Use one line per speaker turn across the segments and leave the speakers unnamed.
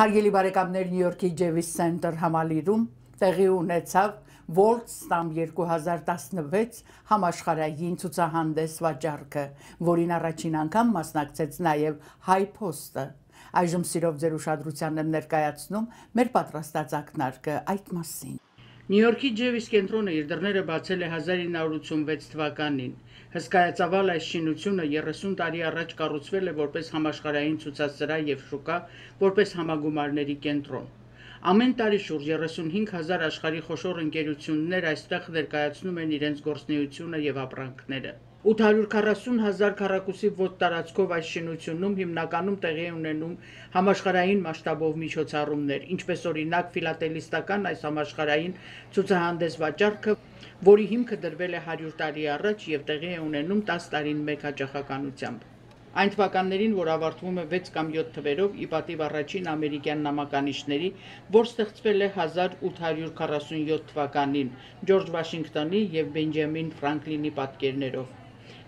Հարգելի բարեկամներ, Նյու Յորքի Ջեվիս Սենտր համալիրում տեղի ունեցավ World Stamp 2016 համաշխարհային ցուցահանդես վաճառքը, որին առաջին անգամ մասնակցեց նաև HighPost-ը։ Այժմ սիրով ձեր ուշադրությանն եմ ներկայացնում մեր պատրաստած ակնարկը այդ մասին։ Նյու Յորքի Ջեվիս կենտրոնը իր դռները բացել է 1986 թվականին։ Հսկայածավալ այս շինությունը 30 տարի առաջ կառուցվել է որպես համաշխարհային ցուցասրահ եւ շուկա, որպես համագումարների կենտրոն։ Ամեն տարի շուրջ 35,000 աշխարհի խոշոր ընկերություններ այստեղ ներկայացնում են իրենց գործունեությունը եւ ապրանքները։ 840,000 քառակուսի ոտ տարածքով այս շինությունում հիմնականում տեղի ունենում համաշխարհային մասշտաբով միջոցառումներ, ինչպես օրինակ ֆիլատելիստական այս համաշխարհային ցուցահանդես վաճառքը, որի հիմքը դրվել է 100 տարի առաջ եւ տեղի է ունենում 10 տարին մեկ հաճախականությամբ։ Այն թվականներին, որ ավարտվում է 6 կամ 7 թվերով, ի պատիվ առաջին ամերիկյան նամականիշների, որ ստեղծվել է 1847 թվականին Ջորջ Վաշինգտոնի եւ Բենջամին Ֆրանկլինի պատկերներով։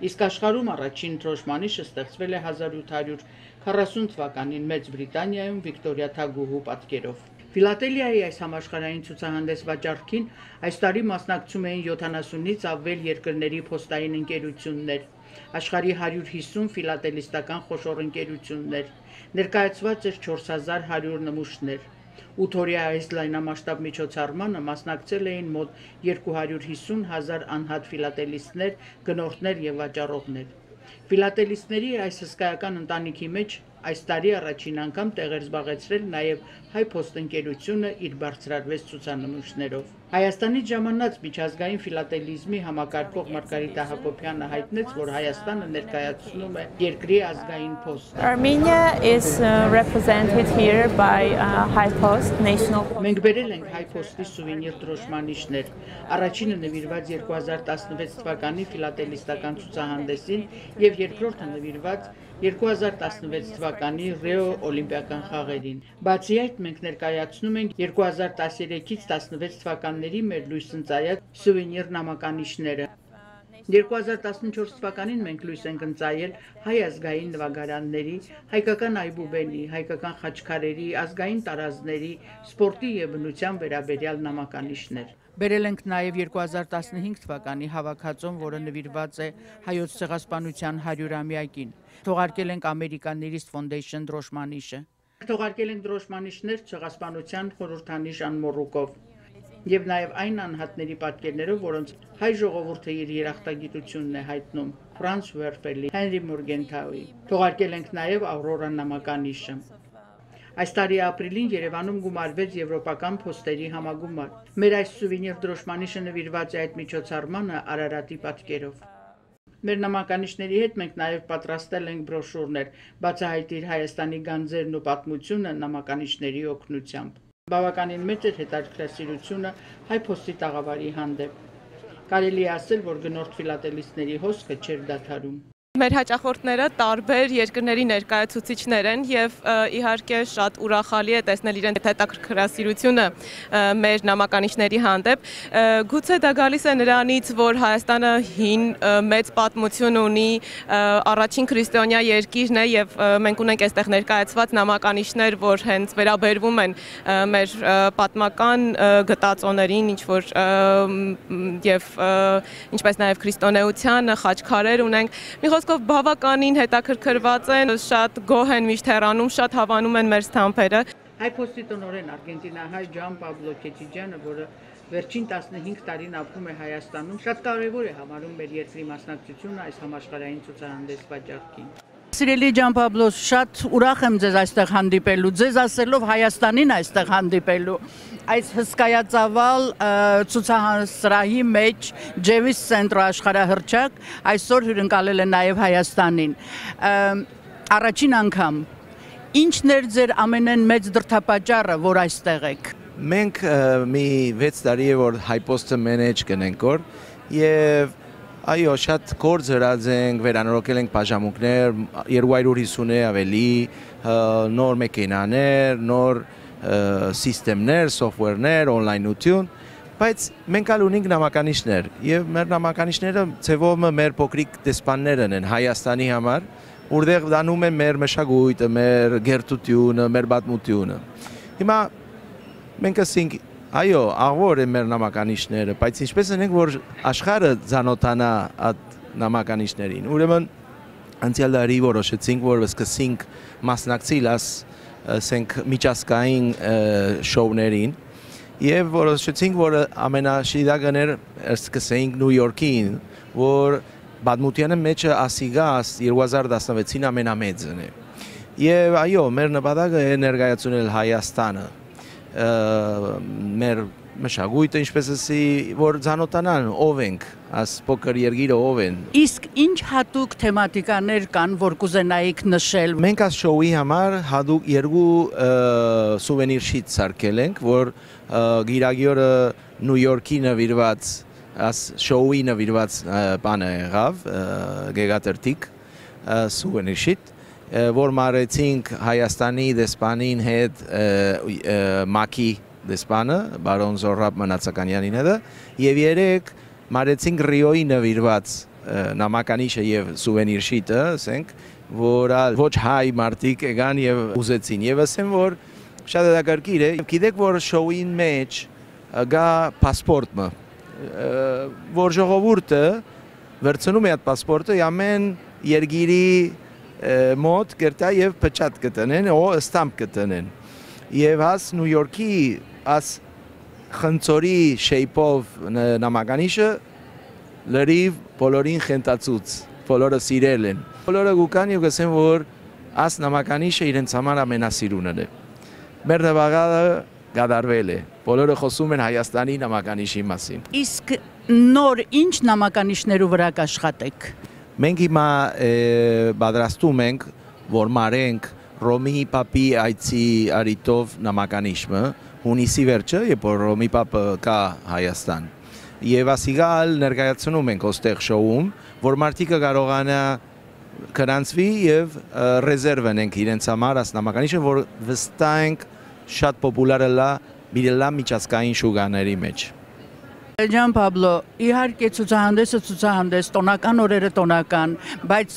Իսկ աշխարհում առաջին դրոշմանիշը ստեղծվել է 1840 թվականին Մեծ Բրիտանիայում Վիկտորիա թագուհու պատկերով։ Ֆիլատելիայի այս համաշխարհային ցուցահանդես վաճառքին այս տարի մասնակցում էին 70-ից ավել երկրների փոստային ընկերություններ, աշխարհի 150 ֆիլատելիստական խոշոր ընկերություններ, ներկայացված էր 4100 նմուշներ։ 8 օրյա այս լայնամասշտաբ միջոցառմանը մասնակցել էին մոտ 250,000 անհատ ֆիլատելիստներ, գնորդներ եւ վաճառողներ։ Ֆիլատելիստների այս հսկայական ընտանիքի մեջ այս տարի առաջին անգամ տեղ էր զբաղեցրել նաև HighPost ընկերությունը իր բարձրարվեст ցուցանմուշներով։ Հայաստանից ժամանած միջազգային ֆիլատելիզմի համակարգող Մարգարիտա Հակոբյանը հայտնեց, որ Հայաստանը ներկայացնում է երկրի ազգային փոստը։
Armenia is represented here by HighPost National.
Մենք բերել ենք HighPost-ի սուվենիր դրոշմանիշներ։ Առաջինը նվիրված 2016 թվականի ֆիլատելիստական ցուցահանդեսին եւ երկրորդը նվիրված 2016 թվականի Ռիո օլիմպիական խաղերին։ Բացի այդ, մենք ներկայացնում ենք 2013-ից 16 թվականների մեր լույս ընծայած սուվենիր նամականիշները։ 2014 թվականին մենք լույս ենք ընծայել հայ ազգային նվագարանների, հայկական այբուբենի, հայկական խաչքարերի, ազգային տարազների, սպորտի եւ բնության վերաբերյալ նամականիշներ։ Բերել ենք նաև 2015 թվականի հավաքածոն, որը նվիրված է հայոց ցեղասպանության 100-ամյակին։ Թողարկել ենք American Foundation դրոշմանիշը։ Թողարկել ենք դրոշմանիշներ ցեղասպանության խորհրդանիշ անմոռուկով եւ նաև այն անհատների պատկերներով, որոնց հայ ժողովուրդը իր երախտագիտությունն է հայտնում Ֆրանց Վերֆելի, Հենրի Մորգենթաուի։ Թողարկել ենք նաև Ավրորա նամականիշը։ Այս տարի ապրիլին Երևանում գումարվեց եվրոպական փոստերի համագումար։ Մեր այս սուվենիր դրոշմանիշը նվիրված է այդ միջոցառմանը Արարատի պատկերով։ Մեր նամականիշների հետ մենք նաև պատրաստել ենք բրոշուրներ, բացահայտիր Հայաստանի գանձերն ու պատմությունը նամականիշների օգնությամբ։ Բավականին մեծ էր հետաքրքրասիրությունը HighPost-ի տաղավարի հանդեպ։ Կարելի է ասել, որ գնորդ ֆիլատելիստների հոսքը չէր դադարում։
Մեր հաճախորդները տարբեր երկրների ներկայացուցիչներ են եւ իհարկե շատ ուրախալի է տեսնել իրենց հետաքրքրասիրությունը մեր նամականիշների հանդեպ։ Գուցե դա գալիս է նրանից, որ Հայաստանը հին մեծ պատմություն ունի, առաջին քրիստոնյա երկիրն է եւ մենք ունենք այստեղ ներկայացված նամականիշներ, որ հենց վերաբերվում են մեր պատմական գտածոներին, ինչ որ եւ ինչպես նաեւ քրիստոնեությանը, խաչքարեր ունենք։ Խոսքով բավականին հետաքրքրված են, շատ գոհ են միշտ հեռանում, շատ հավանում են մեր ստամփերը։
HighPost-ի տնօրեն արգենտինահայ Ջան Պաբլո Քեչիջյանը, որը վերջին 15 տարին ապրում է Հայաստանում, շատ կարևոր է համարում մեր երկրի մասնակցությունը այս համաշխարհային ցուցահանդես վաճառքին։ Սիրելի Ջան Պաբլո, շատ ուրախ եմ ձեզ այստեղ հանդիպելու, ձեզ ասելով Հայաստանին այստեղ հանդիպելու։ Այս հսկայածավալ ցուցահանդեսի մեջ Ջեվիս Սենտր աշխարհահռչակ այսօր հյուրընկալել է նաև Հայաստանին։ Առաջին անգամ ինչն էր ձեր ամենեն մեծ դրդապատճառը, որ այստեղ եք։
Մենք մի 6 տարի է որ HighPost-ը manage կնենք որ եւ այո, շատ գործ հրած ենք, վերանորոգել ենք բաժանմունքներ, 250-ը ավելի, նոր մեքենաներ, նոր սիստեմներ, սոֆթվերներ, օնլայնություն, բայց մենք ալ ունենք նամականիշներ եւ մեր նամականիշները ցեվով մեր փոքրիկ դեսպաններն են Հայաստանի համար, որտեղ դանում են մեր մշակույթը, մեր գերտությունը, մեր պատմությունը։ Հիմա մենք ասենք, այո, աղվոր են մեր նամականիշները, բայց ինչպես ենք, որ աշխարհը ծանոթանա այդ նամականիշներին։ Ուրեմն անցյալ տարի որոշեցինք, որ սկսենք մասնակցել ասենք միջազգային շոուներին եւ որոշեցինք, որ ամենաշիդակներ սկսենք Նյու Յորքին, որ պատմության մեջ ասիգա 2016-ին ամենամեծն է։ Եվ այո, մեր նպատակը է ներկայացնել Հայաստանը, մեր մշակույթը, ինչպես ասի, որ ծանոթանան ով ենք, աս փոքր երկիրը ով են։
Իսկ ինչ հատուկ թեմատիկաներ կան, որ կուզենայիք նշել։
Մենք այս շոուի համար հատուկ երկու սուվենիր շիթ սարքել ենք, որ գիրագյորը Նյու Յորքի նվիրված, աս շոուի նվիրված բանը եղավ, գեղատերտիկ սուվենիր շիթ, որ մարեցինք Հայաստանի դեսպանին հետ Մակի դեսպանը, բարոն Զոհրաբ Մնացականյանին հետ, եւ երեք մարեցինք Ռիոյի նվիրված նամականիշը եւ սուվենիր շիթը, ասենք, որ ոչ հայ մարդիկ եկան եւ ուզեցին։ Եվ ասեմ, որ շատ հետաքրքիր է, գիտեք, որ շոուին մեջ գա պասպորտը, որ ժողովուրդը վերցնում է այդ պասպորտը ամեն երկիրի մոտ կերտա եւ փչատ կտնեն, օ ստամպ կտնեն։ Եվ աս Նյու Յորքի աս խնձորի շեյփով նամականիշը լրիվ բոլորին խենթացուց, բոլորը սիրել են։ Բոլորը գուկան եւ գսեն, որ աս նամականիշը իրենց համար ամենասիրունն է։ Մեր նվագը գադարվել է։ Բոլորը խոսում են Հայաստանի նամականիշի մասին։
Իսկ նոր ինչ նամականիշներու վրա կաշխատեք։
Մենք հիմա պատրաստում ենք, որ մարենք Ռոմի Պապի այցի արիտով նամականիշը, հունիսի վերջը, երբ որ Ռոմի Պապը կա Հայաստան։ Եվ ասիգալ ներկայացնում ենք ոստեղ շոուում, որ մարդիկը կարողանա գրանցվի եւ ռեզերվեն ենք իրենց համար աս նամականիշը, որ վստահ ենք շատ պոպուլար է լա միջազգային շուկաների մեջ։
Ջան Պաբլո, իհարկե ցուցահանդեսը ցուցահանդես, տոնական օրերը տոնական, բայց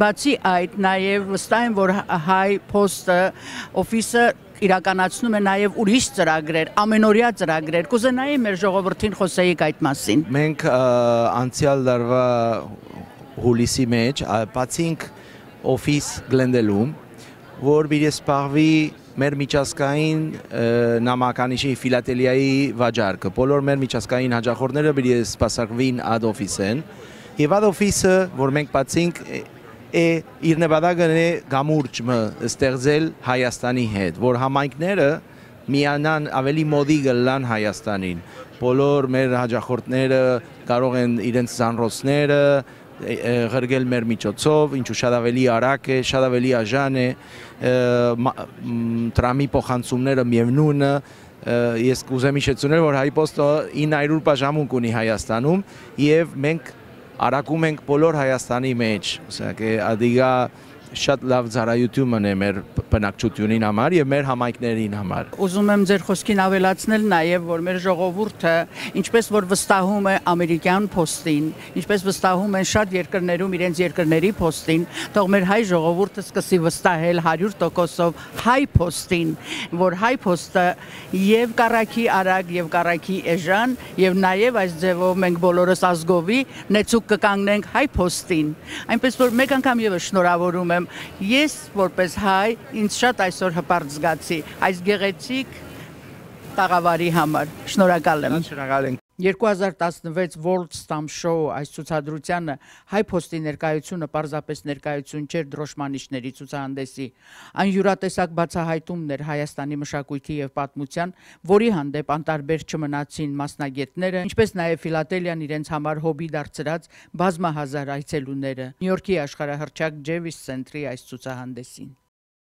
բացի այդ նաև վստահ եմ, որ հայ փոստը օֆիսը իրականացնում է նաև ուրիշ ծրագրեր, ամենօրյա ծրագրեր։ Կուզենայի մեր ժողովրդին խոսեիք այդ մասին։
Մենք անցյալ տարվա հուլիսի մեջ բացինք օֆիս Գլենդելում, որ պիտի սպառվի մեր միջազգային նամականիշի ֆիլատելիայի վաճառքը։ Բոլոր մեր միջազգային հաճախորդները պիտի սպասարկվին այդ օֆիսեն։ Եվ այդ օֆիսը, որ մենք բացինք, իր նպատակն է գամուրջը ստեղծել Հայաստանի հետ, որ համայնքները միանան ավելի մոդի գլան Հայաստանին։ Բոլոր մեր հաճախորդները կարող են իրենց զանրոցները ղրգել մեր միջոցով, ինչու շատ ավելի արագ է, շատ ավելի աժան է, տրամի փոխանցումները միևնույնն է, ես կուզեմ հիշեցնել, որ Հայպոստը 900 բաժանմունք ունի Հայաստանում եւ մենք արագում ենք բոլոր Հայաստանի մեջ, ասենք ադիգա շատ լավ ծառայությունն է մեր բնակչությունին համար եւ մեր համայնքներին համար։
Ուզում եմ ձեր խոսքին ավելացնել նաեւ, որ մեր ժողովուրդը, ինչպես որ վստահում է ամերիկյան փոստին, ինչպես վստահում են շատ երկրներում իրենց երկրների փոստին, թող մեր հայ ժողովուրդը սկսի վստահել 100%-ով հայ փոստին, որ հայ փոստը եւ կառակի արագ եւ կառակի էժան եւ նաեւ այս ձևով մենք բոլորս ազգովի նեցուկ կկանգնենք հայ փոստին։ Այնպես որ մեկ անգամ եւս շնորհավորում Ես որպես հայ ինձ շատ այսօր հպարտ զգացի այս գեղեցիկ տաղավարի համար։ Շնորհակալ եմ։
Շնորհակալ ենք։
2016 World Stamp Show այս ցուցադրությանը հայ փոստի ներկայությունը պարզապես ներկայություն չէր դրոշմանիշների ցուցահանդեսի, այն յուրատեսակ բացահայտումն էր Հայաստանի մշակույթի եւ պատմության, որի հանդեպ անտարբեր չմնացին մասնագետները, ինչպես նաեւ ֆիլատելիան իրենց համար հոբի դարձրած բազմահազար այցելուները։ Նյու Յորքի աշխարհահռչակ Ջեվիս Սենտրի այս ցուցահանդեսին։